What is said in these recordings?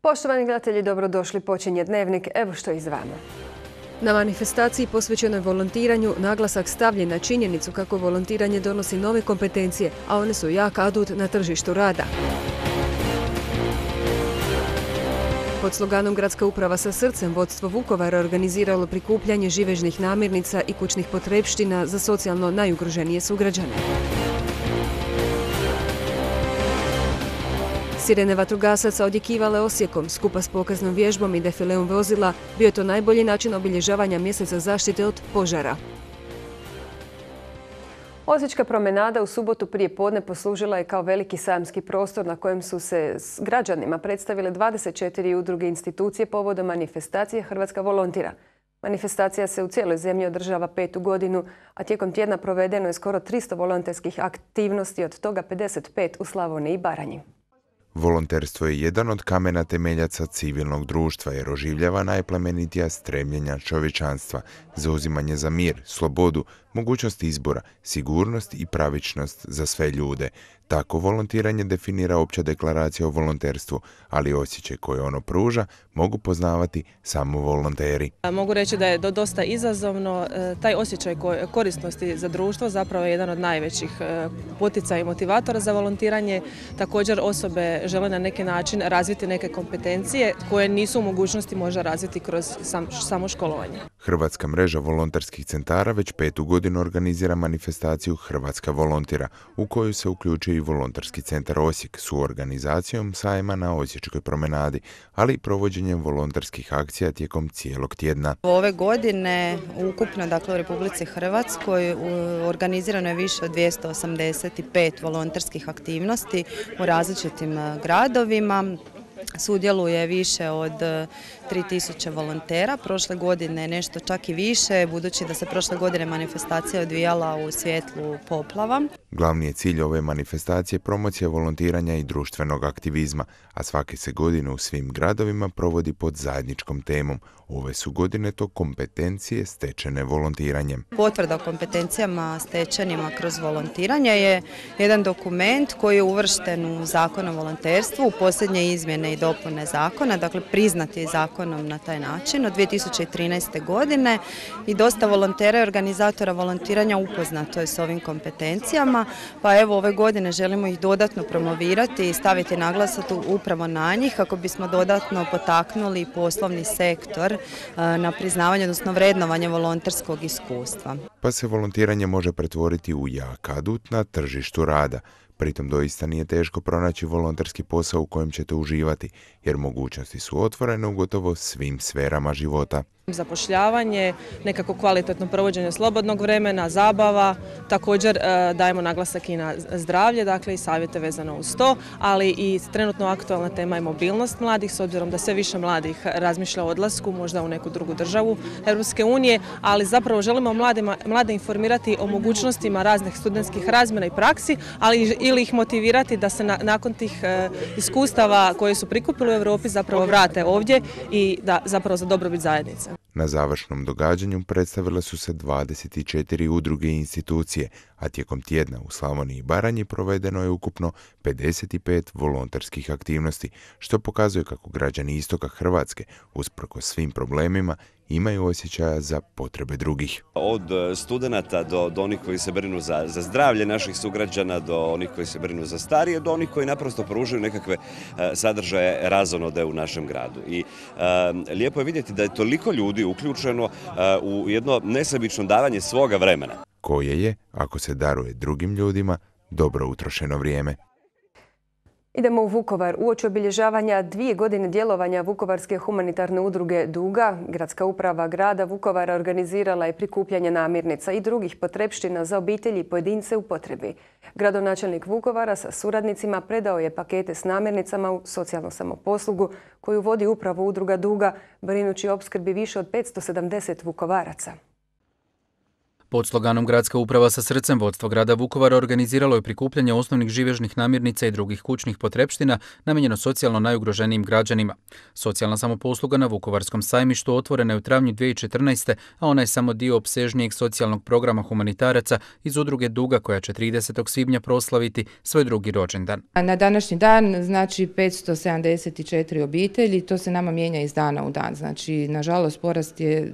Poštovani gledatelji, dobrodošli. Počinje Dnevnik. Evo što je iz vama. Na manifestaciji posvećenoj volontiranju naglasak stavljen na činjenicu kako volontiranje donosi nove kompetencije, a one su jak adut na tržištu rada. Pod sloganom Gradska uprava sa srcem vodstvo Vukovara organiziralo prikupljanje živežnih namirnica i kućnih potrepština za socijalno najugroženije sugrađane. Sirene vatrogasaca odjekivale Osijekom, skupa s pokaznom vježbom i defileom vozila, bio je to najbolji način obilježavanja mjeseca zaštite od požara. Osječka promenada u subotu prije podne poslužila je kao veliki sajamski prostor na kojem su se s građanima predstavile 24 udruge i institucije povodom manifestacije Hrvatska volontira. Manifestacija se u cijeloj zemlji održava 5. godinu, a tijekom tjedna provedeno je skoro 300 volonterskih aktivnosti, od toga 55 u Slavoniji i Baranji. Volonterstvo je jedan od kamena temeljaca civilnog društva jer oživljava najplemenitija stremljenja čovječanstva, zauzimanje za mir, slobodu, mogućnost izbora, sigurnost i pravičnost za sve ljude. Tako volontiranje definira opća deklaracija o volonterstvu, ali osjećaj koje ono pruža mogu poznavati samo volonteri. Mogu reći da je dosta izazovno. Taj osjećaj korisnosti za društvo zapravo je jedan od najvećih poticaja i motivatora za volontiranje. Također osobe žele na neki način razviti neke kompetencije koje nisu u mogućnosti možda razviti kroz samo školovanje. Hrvatska mreža volonterskih centara već 5. godinu organizira manifestaciju Hrvatska volontira, u koju se uključuje i Volonterski centar Osijek s organizacijom sajma na Osječkoj promenadi, ali i provođenjem volonterskih akcija tijekom cijelog tjedna. Ove godine ukupno u Republici Hrvatskoj organizirano je više od 285 volonterskih aktivnosti u različitim gradovima. Sudjeluje više od 3000 volontera. Prošle godine nešto čak i više, budući da se prošle godine manifestacija odvijala u svjetlu poplava. Glavni je cilj ove manifestacije promocija volontiranja i društvenog aktivizma, a svake se godine u svim gradovima provodi pod zajedničkom temom. Ove su godine to kompetencije stečene volontiranjem. Potvrda o kompetencijama stečenima kroz volontiranje je jedan dokument koji je uvršten u Zakon o volonterstvu, u posljednje izmjene i dopune zakona, dakle priznat je zakonom na taj način od 2013. godine i dosta volontera i organizatora volontiranja upoznato je s ovim kompetencijama, pa evo ove godine želimo ih dodatno promovirati i staviti naglasak upravo na njih kako bismo dodatno potaknuli poslovni sektor na priznavanje, odnosno vrednovanje volonterskog iskustva. Pa se volontiranje može pretvoriti u jak adut na tržištu rada. Pritom doista nije teško pronaći volonterski posao u kojem ćete uživati, jer mogućnosti su otvorene u gotovo svim sferama života. Zapošljavanje, nekako kvalitetno provođenje slobodnog vremena, zabava, također dajemo naglasak i na zdravlje, dakle i savjete vezano uz to, ali i trenutno aktualna tema je mobilnost mladih, s obzirom da sve više mladih razmišlja o odlasku, možda u neku drugu državu Europske unije, ali zapravo želimo mlade informirati o mogućnostima raznih studentskih razmjena i praksi, ali ili ih motivirati da se nakon tih iskustava koje su prikupili u Europi zapravo vrate ovdje i da zapravo za dobrobit zajednice. Na završnom događanju predstavile su se 24 udruge i institucije, a tijekom tjedna u Slavoniji i Baranji provedeno je ukupno 55 volonterskih aktivnosti, što pokazuje kako građani istoka Hrvatske, usprkos svim problemima, imaju osjećaja za potrebe drugih. Od studenata do onih koji se brinu za zdravlje naših sugrađana, do onih koji se brinu za starije, do onih koji naprosto pružaju nekakve sadržaje razonode u našem gradu. I lijepo je vidjeti da je toliko ljudi uključeno u jedno nesebično davanje svoga vremena. Koje je, ako se daruje drugim ljudima, dobro utrošeno vrijeme. Idemo u Vukovar. Uoči obilježavanja 2 godine djelovanja Vukovarske humanitarne udruge Duga, Gradska uprava grada Vukovara organizirala je prikupljanje namirnica i drugih potrepština za obitelji i pojedince u potrebi. Gradonačelnik Vukovara sa suradnicima predao je pakete s namirnicama u socijalnu samoposlugu koju vodi upravo udruga Duga, brinući o opskrbi više od 570 Vukovaraca. Pod sloganom Gradska uprava sa srcem vodstvo grada Vukovara organiziralo je prikupljanje osnovnih živežnih namirnica i drugih kućnih potrepština namijenjeno socijalno najugroženijim građanima. Socijalna samoposluga na Vukovarskom sajmištu otvorena je u travnju 2014. a ona je samo dio opsežnijeg socijalnog programa humanitaraca iz udruge Duga koja će 30. svibnja proslaviti svoj drugi rođendan. Na današnji dan znači 574 obitelji, to se nama mijenja iz dana u dan. Znači, nažalost, porast je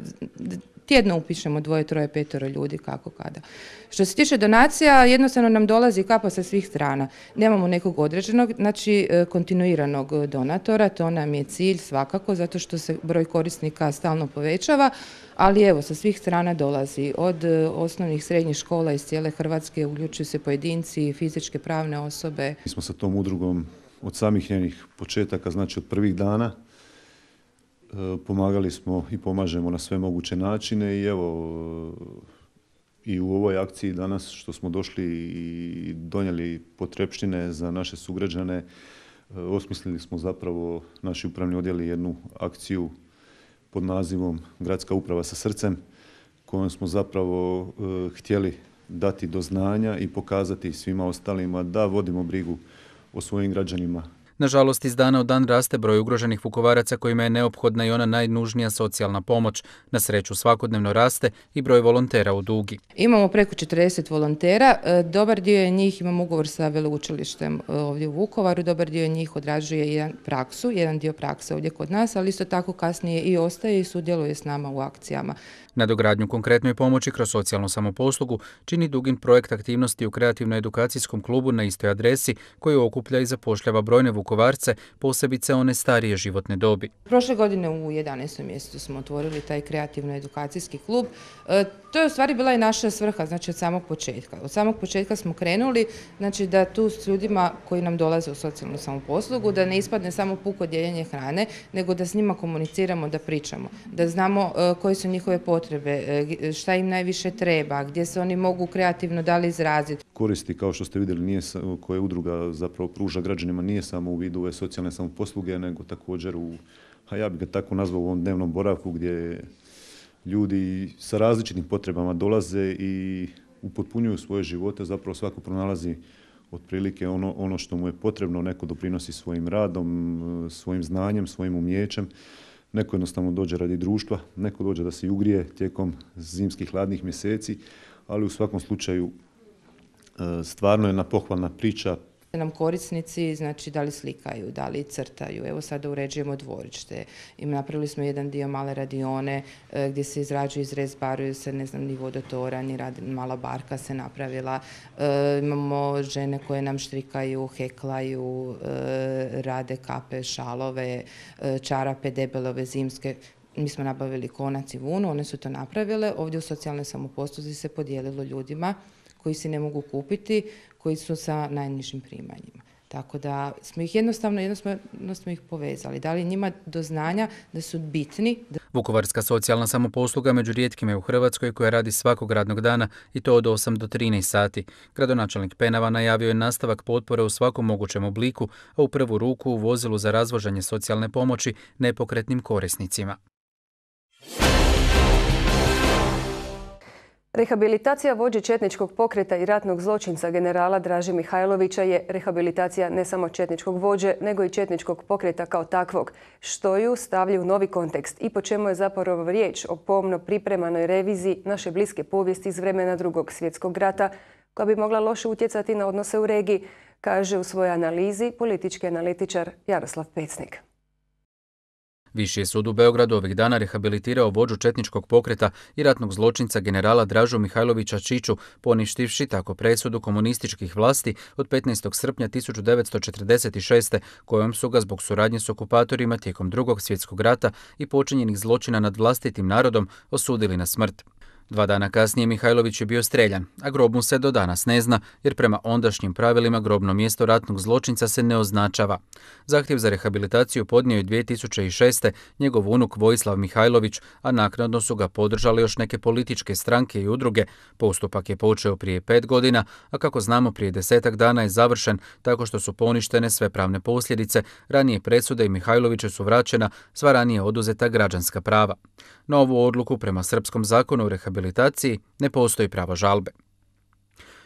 tjedno upišemo 2, 3, 5 ljudi kako kada. Što se tiče donacija, jednostavno nam dolazi kapa sa svih strana. Nemamo nekog određenog, znači kontinuiranog donatora, to nam je cilj svakako, zato što se broj korisnika stalno povećava, ali evo, sa svih strana dolazi, od osnovnih srednjih škola iz cijele Hrvatske, uključuju se pojedinci, fizičke, pravne osobe. Mi smo sa tom udrugom od samih njenih početaka, znači od prvih dana, pomagali smo i pomažemo na sve moguće načine i evo i u ovoj akciji danas što smo došli i donijeli potrepštine za naše sugrađane, osmislili smo zapravo naši upravni odjeli jednu akciju pod nazivom Gradska uprava sa srcem kojom smo zapravo htjeli dati do znanja i pokazati svima ostalima da vodimo brigu o svojim građanima. Nažalost, iz dana u dan raste broj ugroženih Vukovaraca kojima je neophodna i ona najnužnija socijalna pomoć. Na sreću svakodnevno raste i broj volontera u Dugi. Imamo preko 40 volontera, dobar dio njih imamo ugovor sa veleučilištem ovdje u Vukovaru, dobar dio njih odrađuje jedan dio prakse ovdje kod nas, ali isto tako kasnije i ostaje i sudjeluje s nama u akcijama. Nadogradnju konkretnoj pomoći kroz socijalnu samoposlugu čini Dugin projekt aktivnosti u kreativno-edukacijskom klubu na istoj adresi koji okuplja i zapošljava brojne Vukovarce, posebice one starije životne dobi. Prošle godine u 11. mjesecu smo otvorili taj kreativno-edukacijski klub. To je u stvari bila i naša svrha, znači od samog početka. Od samog početka smo krenuli, znači da tu s ljudima koji nam dolaze u socijalnu samoposlugu, da ne ispadne samo puko dijeljenje hrane, nego da s njima komuniciramo, da pričamo, da znamo koje su njihove potrebe, šta im najviše treba, gdje se oni mogu kreativno dali izraziti. Koristi, kao što ste vidjeli, koje udruga zapravo pruža građanima, nije samo u vidu ove socijalne samoposluge, nego također ja bih ga tako nazvao, u ovom dnevnom boravku gdje ljudi sa različitim potrebama dolaze i upotpunjuju svoje živote, zapravo svako pronalazi otprilike ono što mu je potrebno, neko doprinosi svojim radom, svojim znanjem, svojim umijećem. Neko jednostavno dođe radi društva, neko dođe da se ugrije tijekom zimskih hladnih mjeseci, ali u svakom slučaju stvarno je jedna pohvalna priča. Nam korisnici, znači da li slikaju, da li crtaju, evo sada uređujemo dvorište, napravili smo jedan dio male radione gdje se izrađuju, izrezbaruju se, ne znam, ni vodotoranj, ni mala barka se napravila, imamo žene koje nam štrikaju, heklaju, rade kape, šalove, čarape debelove, zimske. Mi smo nabavili konac i vunu, one su to napravile, ovdje u socijalnoj samoposluzi se podijelilo ljudima koji si ne mogu kupiti, koji su sa najnižim primanjima. Tako da smo ih jednostavno smo ih povezali, dali njima do znanja da su bitni. Vukovarska socijalna samoposluga među rijetkima je u Hrvatskoj koja radi svakog radnog dana i to od 8 do 13 sati. Gradonačelnik Penava najavio je nastavak potpore u svakom mogućem obliku, a u prvu ruku u vozilu za razvožanje socijalne pomoći nepokretnim korisnicima. Rehabilitacija vođe četničkog pokreta i ratnog zločinca generala Draže Mihajlovića je rehabilitacija ne samo četničkog vođe, nego i četničkog pokreta kao takvog, što ju stavlja u novi kontekst i po čemu je zapravo riječ o pomno pripremanoj reviziji naše bliske povijesti iz vremena Drugog svjetskog rata, koja bi mogla loše utjecati na odnose u regiji, kaže u svojoj analizi politički analitičar Jaroslav Pecnik. Viši je sud u Beogradu ovih dana rehabilitirao vođu četničkog pokreta i ratnog zločinca generala Dražu Mihajlovića Čiču, poništivši tako presudu komunističkih vlasti od 15. srpnja 1946. kojom su ga zbog suradnje s okupatorima tijekom Drugog svjetskog rata i počinjenih zločina nad vlastitim narodom osudili na smrt. 2 dana kasnije Mihajlović je bio streljan, a grob mu se do danas ne zna, jer prema ondašnjim pravilima grobno mjesto ratnog zločinca se ne označava. Zahtjev za rehabilitaciju podnio je 2006. njegov unuk Vojislav Mihajlović, a naknadno su ga podržali još neke političke stranke i udruge. Postupak je počeo prije 5 godina, a kako znamo prije 10 dana je završen tako što su poništene sve pravne posljedice, ranije presude i Mihajloviću su vraćena sva ranije oduzeta građanska prava. Na ovu odluku prema srpskom zakonu o rehabilitaciji rehabilitaciji ne postoji pravo žalbe.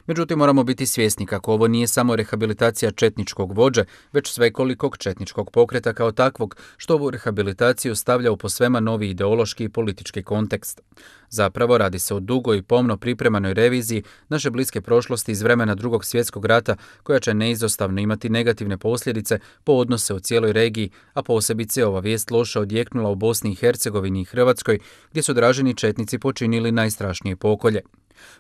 Međutim, moramo biti svjesni kako ovo nije samo rehabilitacija četničkog vođe, već svekolikog četničkog pokreta kao takvog, što ovu rehabilitaciju stavlja u posvema novi ideološki i politički kontekst. Zapravo radi se o dugoj i pomno pripremanoj reviziji naše bliske prošlosti iz vremena Drugog svjetskog rata, koja će neizostavno imati negativne posljedice po odnose u cijeloj regiji, a posebice ova vijest loše odjeknula u Bosni i Hercegovini i Hrvatskoj, gdje su draženi četnici počinili najstrašnije pokolje.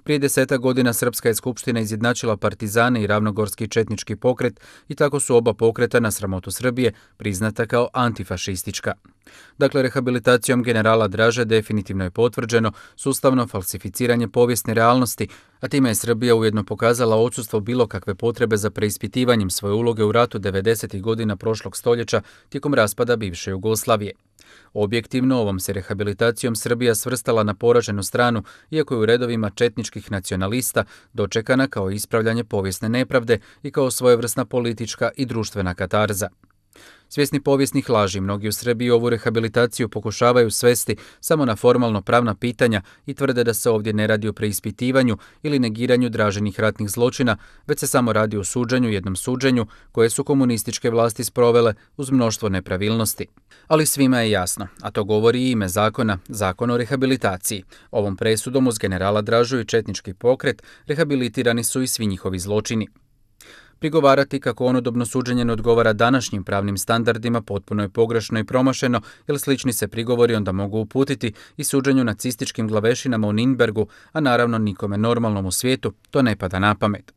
Prije 10 godina Srpska je skupština izjednačila partizane i ravnogorski četnički pokret i tako su oba pokreta na sramotu Srbije priznata kao antifašistička. Dakle, rehabilitacijom generala Draže definitivno je potvrđeno sustavno falsificiranje povijesne realnosti, a time je Srbija ujedno pokazala odsustvo bilo kakve potrebe za preispitivanjem svoje uloge u ratu 90. godina prošlog stoljeća tijekom raspada bivše Jugoslavije. Objektivno, ovom se rehabilitacijom Srbija svrstala na poraženu stranu, iako je u redovima četničkih nacionalista dočekana kao ispravljanje povijesne nepravde i kao svojevrsna politička i društvena katarza. Svjesni povijesnih laži, mnogi u Srbiji ovu rehabilitaciju pokušavaju svesti samo na formalno pravna pitanja i tvrde da se ovdje ne radi o preispitivanju ili negiranju Draženih ratnih zločina, već se samo radi o suđenju, jednom suđenju koje su komunističke vlasti sprovele uz mnoštvo nepravilnosti. Ali svima je jasno, a to govori i ime zakona, Zakon o rehabilitaciji. Ovom presudom uz generala Dražu i četnički pokret rehabilitirani su i svi njihovi zločini. Prigovarati kako onodobno suđenje ne odgovara današnjim pravnim standardima potpuno je pogrešno i promašeno, jer slični se prigovori onda mogu uputiti i suđenju nacističkim glavešinama u Nürnbergu, a naravno nikome normalnom u svijetu to ne pada na pamet.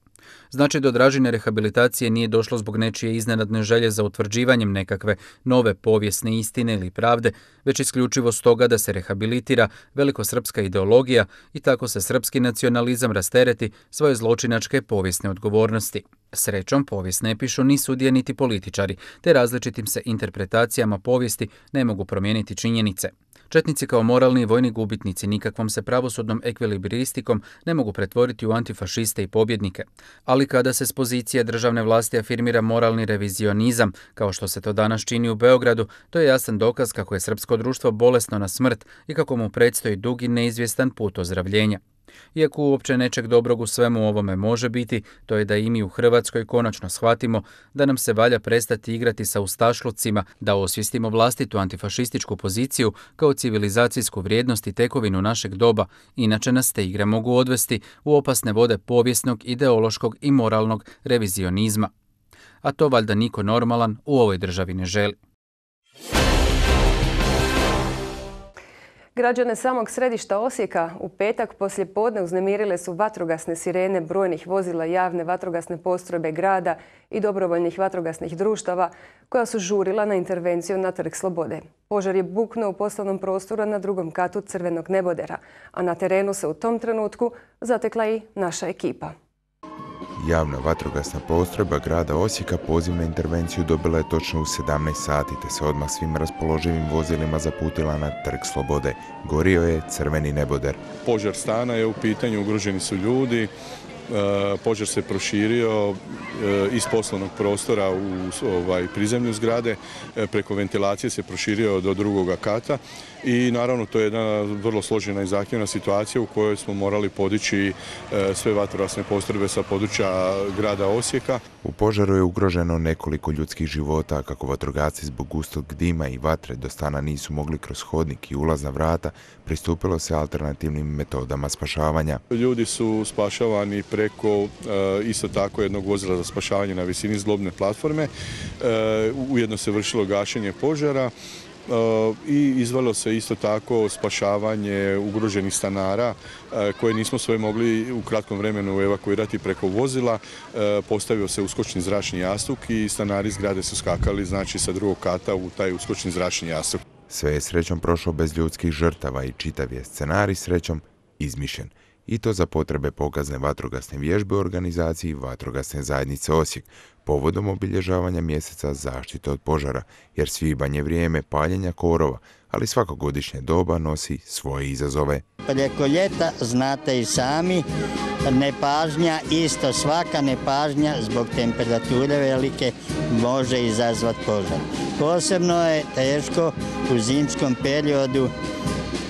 Znači, do Dražine rehabilitacije nije došlo zbog nečije iznenadne želje za utvrđivanjem nekakve nove povijesne istine ili pravde, već isključivo stoga da se rehabilitira velikosrpska ideologija i tako se srpski nacionalizam rastereti svoje zločinačke povijesne odgovornosti. Srećom, povijest ne pišu ni sudije niti političari, te različitim se interpretacijama povijesti ne mogu promijeniti činjenice. Četnici kao moralni i vojni gubitnici nikakvom se pravosudnom ekvilibristikom ne mogu pretvoriti u antifašiste i pobjednike. Ali kada se s pozicije državne vlasti afirmira moralni revizionizam, kao što se to danas čini u Beogradu, to je jasan dokaz kako je srpsko društvo bolesno na smrt i kako mu predstoji dugi neizvjestan put ozdravljenja. Iako uopće nečeg dobrog u svemu ovome može biti, to je da i mi u Hrvatskoj konačno shvatimo da nam se valja prestati igrati sa ustašlucima, da osvijestimo vlastitu antifašističku poziciju kao civilizacijsku vrijednost i tekovinu našeg doba, inače nas te igre mogu odvesti u opasne vode povijesnog, ideološkog i moralnog revizionizma. A to valjda niko normalan u ovoj državi ne želi. Građane samog središta Osijeka u petak poslije podne uznemirile su vatrogasne sirene brojnih vozila javne vatrogasne postrojbe grada i dobrovoljnih vatrogasnih društava koja su žurila na intervenciju na Trg Slobode. Požar je buknuo u poslovnom prostoru na drugom katu Crvenog nebodera, a na terenu se u tom trenutku zatekla i naša ekipa. Javna vatrogasna postrojba grada Osijeka poziv na intervenciju dobila je točno u 17 sati, te se odmah svim raspoloživim vozilima zaputila na Trg Slobode. Gorio je Crveni neboder. Požar stana je u pitanju, ugroženi su ljudi. Požar se proširio iz poslovnog prostora u prizemlju zgrade, preko ventilacije se proširio do drugoga kata i naravno to je jedna vrlo složena i zahtjevna situacija u kojoj smo morali podići sve vatrogasne postrojbe sa područja grada Osijeka. U požaru je ugroženo nekoliko ljudskih života, kako vatrogasci zbog gustog dima i vatre do stana nisu mogli kroz hodnik i ulazna vrata, pristupilo se alternativnim metodama spašavanja. Ljudi su spašavani preko isto tako jednog vozila za spašavanje na visini zglobne platforme. Ujedno se vršilo gašenje požara i izvelo se isto tako spašavanje ugroženih stanara koje nismo sve mogli u kratkom vremenu evakuirati preko vozila. Postavio se uskočni zračni jastuk i stanari zgrade su skakali, znači, sa drugog kata u taj uskočni zračni jastuk. Sve je srećom prošlo bez ljudskih žrtava i čitav je scenarij srećom izmišljen. I to za potrebe pokazne vatrogasne vježbe u organizaciji Vatrogasne zajednice Osijek, povodom obilježavanja mjeseca zaštite od požara, jer svibanj je vrijeme paljenja korova, ali svako godišnje doba nosi svoje izazove. Preko ljeta, znate i sami, nepažnja, isto svaka nepažnja zbog temperature velike može izazvati požar. Posebno je teško u zimskom periodu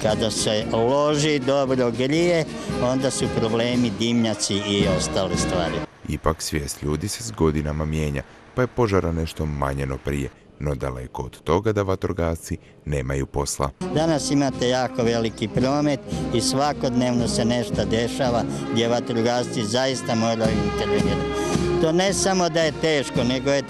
Kada se loži, dobro grije, onda su problemi dimnjaci i ostale stvari. Ipak svijest ljudi se s godinama mijenja, pa je požara nešto manje no prije, no daleko od toga da vatrogasci nemaju posla. Danas imate jako veliki promet i svakodnevno se nešto dešava gdje vatrogasci zaista moraju intervenirati. To ne samo da je teško, nego je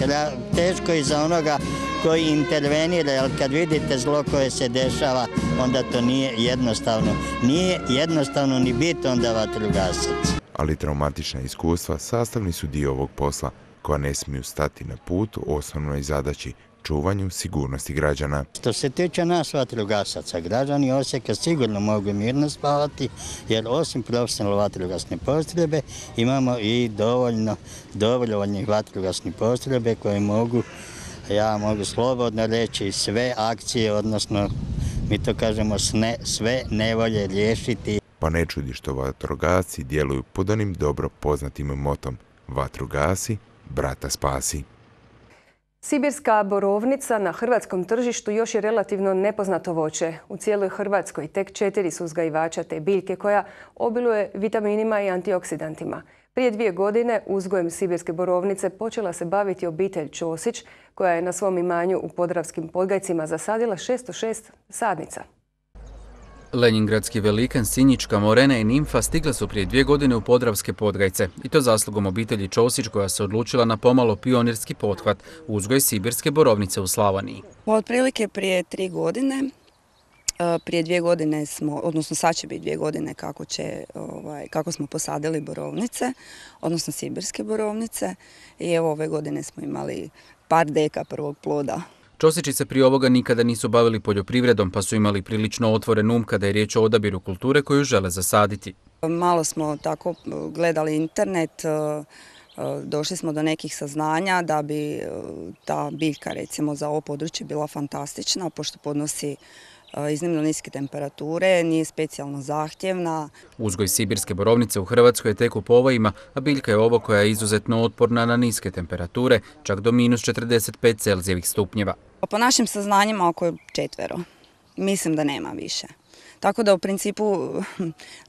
teško i za onoga koji intervenira, jer kad vidite zlo koje se dešava, onda to nije jednostavno. Nije jednostavno ni biti onda vatrogasac. Ali traumatična iskustva sastavni su dio ovog posla, koja ne smiju stati na put osnovnoj zadaći, čuvanju sigurnosti građana. Što se tiče nas vatrogasaca, građani Osijeka sigurno mogu mirno spavati, jer osim profesionalne vatrogasne postrojbe imamo i dovoljno dobrovoljnih vatrogasnih postrojbe koje mogu, ja mogu slobodno reći, sve akcije, odnosno mi to kažemo sve nevolje riješiti. Pa ne čudi što vatrogasci djeluju pod onim dobro poznatim motom: vatru gasi, brata spasi. Sibirska borovnica na hrvatskom tržištu još je relativno nepoznato voće. U cijeloj Hrvatskoj tek 4 su uzgajivača te biljke koja obiluje vitaminima i antioksidantima. Prije 2 godine uzgojem sibirske borovnice počela se baviti obitelj Ćosić, koja je na svom imanju u Podravskim Podgajcima zasadila 606 sadnica. Lenjingradski velikan, Sinjička, Morena i Nimfa stigle su prije 2 godine u Podravske Podgajce, i to zaslugom obitelji Ćosić, koja se odlučila na pomalo pionirski pothvat uzgoj sibirske borovnice u Slavoniji. Otprilike prije 3 godine, prije 2 godine smo, odnosno sad će biti 2 godine kako smo posadili borovnice, odnosno sibirske borovnice, i evo ove godine smo imali par deka prvog ploda. Ćosići se prije ovoga nikada nisu bavili poljoprivredom, pa su imali prilično otvoren um kada je riječ o odabiru kulture koju žele zasaditi. Malo smo tako gledali internet, došli smo do nekih saznanja da bi ta biljka recimo za ovo područje bila fantastična, pošto podnosi iznimno niske temperature, nije specijalno zahtjevna. Uzgoj sibirske borovnice u Hrvatskoj je tek u povojima, a biljka je ovo koja je izuzetno otporna na niske temperature, čak do -45 Celzijevih stupnjeva. Po našim saznanjima oko 4. Mislim da nema više. Tako da u principu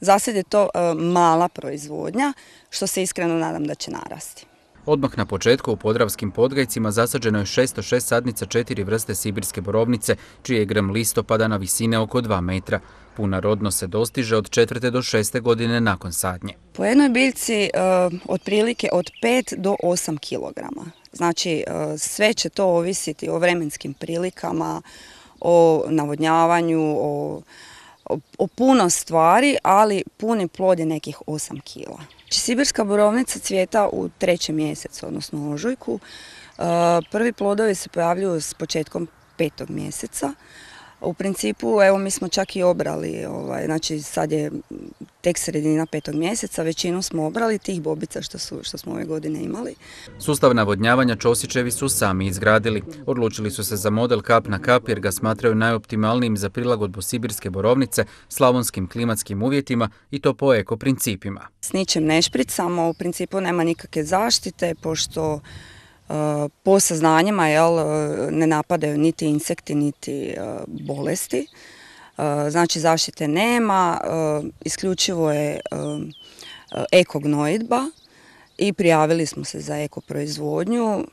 za sad je to mala proizvodnja, što se iskreno nadam da će narasti. Odmah na početku u Podravskim Podgajcima zasađeno je 606 sadnica 4 vrste sibirske borovnice, čiji je grm listopadana visine oko 2 metra. Puna rodnost se dostiže od 4. do 6. godine nakon sadnje. Po jednoj biljci otprilike od 5 do 8 kilograma. Znači sve će to ovisiti o vremenskim prilikama, o navodnjavanju, o puno stvari, ali puni plod je nekih 8 kila. Sibirska borovnica cvijeta u 3. mjesecu, odnosno ožujku. Prvi plodovi se pojavljuju s početkom 5. mjeseca. U principu, evo, mi smo čak i obrali, znači sad je tek sredina 5. mjeseca, većinu smo obrali tih bobica što smo ove godine imali. Sustav navodnjavanja Ćosićevi su sami izgradili. Odlučili su se za model kap na kap jer ga smatraju najoptimalnijim za prilagodbu sibirske borovnice slavonskim klimatskim uvjetima i to po eko principima. S ničim ne špricamo, u principu nema nikakve zaštite, pošto po saznanjima ne napadaju niti insekti, niti bolesti. Znači zaštite nema, isključivo je eko gnojidba i prijavili smo se za eko proizvodnju,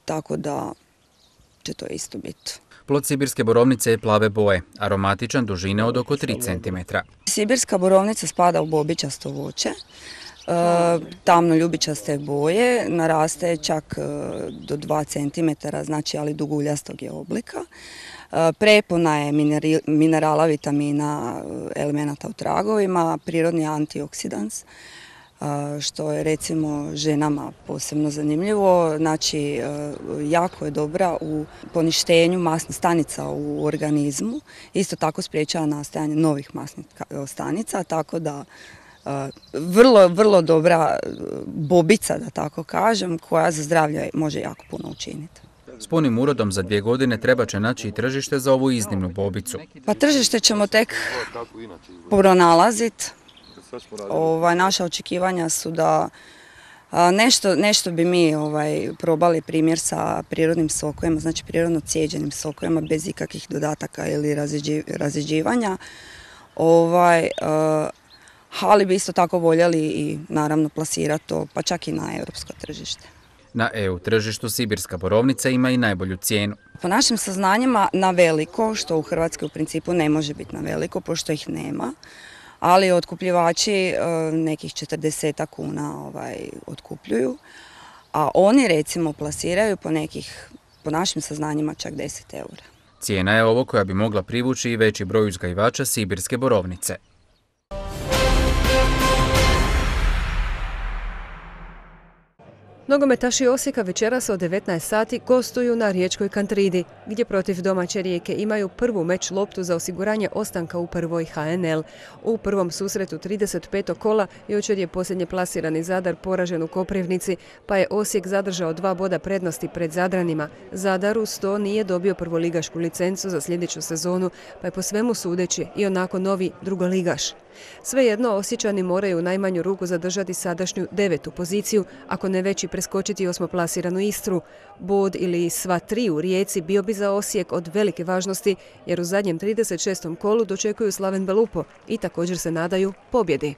tako da će to isto biti. Plod sibirske borovnice je plave boje, aromatičan, dužine od oko 3 cm. Sibirska borovnica spada u bobičasto voće. Tamno ljubičaste boje, naraste čak do 2 cm, znači ali duguljastog je oblika. Prepuna je minerala, vitamina, elemenata u tragovima, prirodni antioksidans, što je recimo ženama posebno zanimljivo. Znači jako je dobra u poništenju masnih stanica u organizmu, isto tako spriječava nastajanje novih masnih stanica, tako da vrlo dobra bobica, da tako kažem, koja za zdravlje može jako puno učiniti. S punim urodom za 2 godine treba će naći i tržište za ovu iznimnu bobicu. Pa tržište ćemo tek pronalaziti. Naša očekivanja su da Nešto bi mi probali primjer sa prirodnim sokovima, znači prirodno cijeđenim sokovima bez ikakvih dodataka ili razrjeđivanja. Ali bi isto tako voljeli i naravno plasirati to, pa čak i na europsko tržište. Na EU tržištu sibirska borovnica ima i najbolju cijenu. Po našim saznanjima na veliko, što u Hrvatskoj u principu ne može biti na veliko, pošto ih nema, ali otkupljivači nekih 40 kuna otkupljuju, a oni recimo plasiraju po našim saznanjima čak 10 eura. Cijena je ovo koja bi mogla privući i veći broj uzgajivača sibirske borovnice. Nogometaši Osijeka večeras od 19 sati gostuju na riječkoj Kantridi, gdje protiv domaće Rijeke imaju prvu meč loptu za osiguranje ostanka u prvoj HNL. U prvom susretu 35. kola jučer je posljednje plasirani Zadar poražen u Koprivnici, pa je Osijek zadržao 2 boda prednosti pred Zadranima. Zadar uz to nije dobio prvoligašku licencu za sljedeću sezonu, pa je po svemu sudeći i onako novi drugoligaš. Svejedno, Osječani moraju u najmanju ruku zadržati sadašnju 9. poziciju, ako ne već i preskočiti 8. plasiranu Istru. Bod ili sva 3 u Rijeci bio bi za Osijek od velike važnosti, jer u zadnjem 36. kolu dočekuju Slaven Belupo i također se nadaju pobjedi.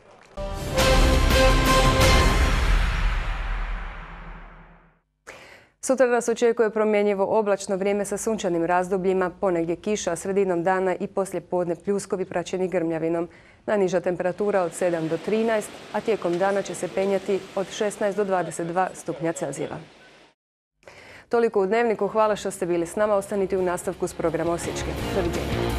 Sutra nas očekuje promjenjivo oblačno vrijeme sa sunčanim razdobljima, ponegdje kiša, sredinom dana i poslije podne pljuskovi praćeni grmljavinom. Najniža temperatura od 7 do 13, a tijekom dana će se penjati od 16 do 22 stupnja Celzijeva. Toliko u Dnevniku, hvala što ste bili s nama, ostanite u nastavku s programa Osječke. Doviđenja.